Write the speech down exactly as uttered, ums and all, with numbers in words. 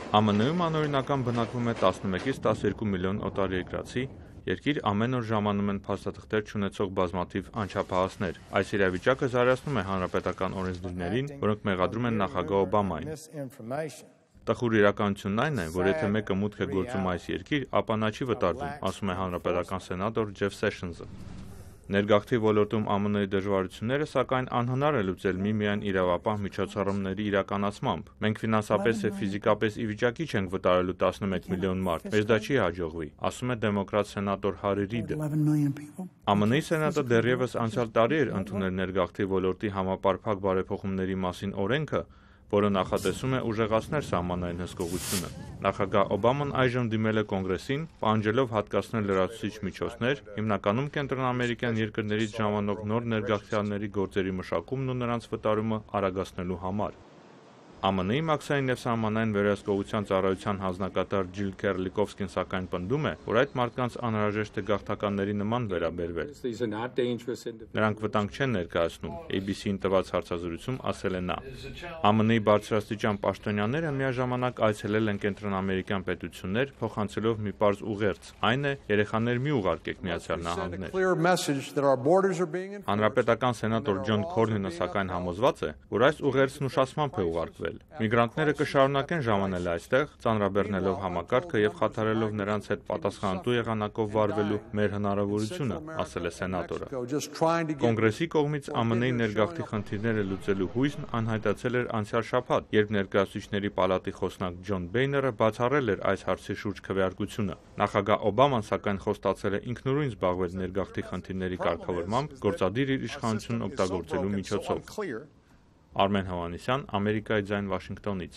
Է Մ Ն-ում անօրինական բնակվում է տասնմեկից տասներկու միլիոն օտարերկրացի, երկիր ամեն օր ժամանում են փաստաթղթեր չունեցող բազմաթիվ անչափահասներ։ Այս իրավիճակը զարգացնում է հանրապետական օրենսդիրներին, որոնք մեղադրում են նախագահ Օբամային։ Տխուր իրականությունն այն է, որ եթե մեկը մուտք է գործում այս երկիր, ապա նա չի վտարվում, ասում է հանրապետական սենատոր Ջեֆ Սեշնսը։ Ներգաղթի ոլորտում Ա Մ Ն-ի դժվարությունները, սակայն, անհնար է լուծել միմիայն իրավապահ միջոցառումների իրականացմամբ։ Մենք ֆինանսապես և ֆիզիկապես ի վիճակի չենք վտարելու տասնմեկ միլիոն մարդ, մեզ դա չի հաջողվի, ասում է դեմոկրատ սենատոր Հարի Ռիդը։ Ա Մ Ն-ի սենատը դեռևս անցյալ տարի էր ընդունել ներգաղթի ոլորտի համապարփակ բարեփոխումների մասին օրենքը, որը նախատեսում է ուժեղացնել սահմանային հսկողությունը։ Նախագահ Օբաման այժմ դիմել է Կոնգրեսին, պահանջելով հատկացնել լրացուցիչ միջոցներ, հիմնականում կենտրոնաամերիկյան երկրներից ժամանող նոր ներգաղթյալների գործերի մշակումն ու նրանց վտարումը արագացնելու համար։ Ա Մ Ն-ի մաքսային և սահմանային վերահսկողության ծառայության հանձնակատար Ջիլ Քեռլիկովսկին սակայն պնդում է, որ այդ մարդկանց անհրաժեշտ է գաղթականների նման վերաբերվել։ Նրանք վտանգ չեն ներկայացնում, A B C-ին տված հարցազրույցում ասել է նա։ Ա Մ Ն-ի բարձրաստիճան պաշտոնյաները միաժամանակ այցելել են կենտրոնաամերիկյան պետություններ, փոխանցելով մի պարզ ուղերձ, այն է՝ երեխաներ մի ուղարկեք Միացյալ Նահանգներ։ Հանրապետական սենատոր Ջոն Քորնինը սակայն համոզված է, որ այս ուղերձն ուշացմամբ է ուղարկվել։ Միգրանտները կշարունակեն ժամանել այստեղ, ծանրաբեռնելով համակարգը և խաթարելով նրանց հետ պատասխանատու եղանակով վարվելու մեր հնարավորությունը, ասել է սենատորը։ Կոնգրեսի կողմից Ա Մ Ն-ի ներգաղթի խնդիրները լուծելու հույսն անհայտացել էր անցյալ շաբաթ, երբ Ներկայացուցիչների պալատի խոսնակ Ջոն Բեյները բացառել էր այս հարցի շուրջ քվեարկությունը։ Նախագահ Օբաման սակայն խոստացել է ինքնուրույն զբաղվել ներգաղթի խնդիրների կարգավորմամբ, գործադիր իր իշխանությունն օգտագործելու միջոցով։ Արմեն Հովհաննիսյան, Ամերիկայի ձայն, Վաշինգտոնից։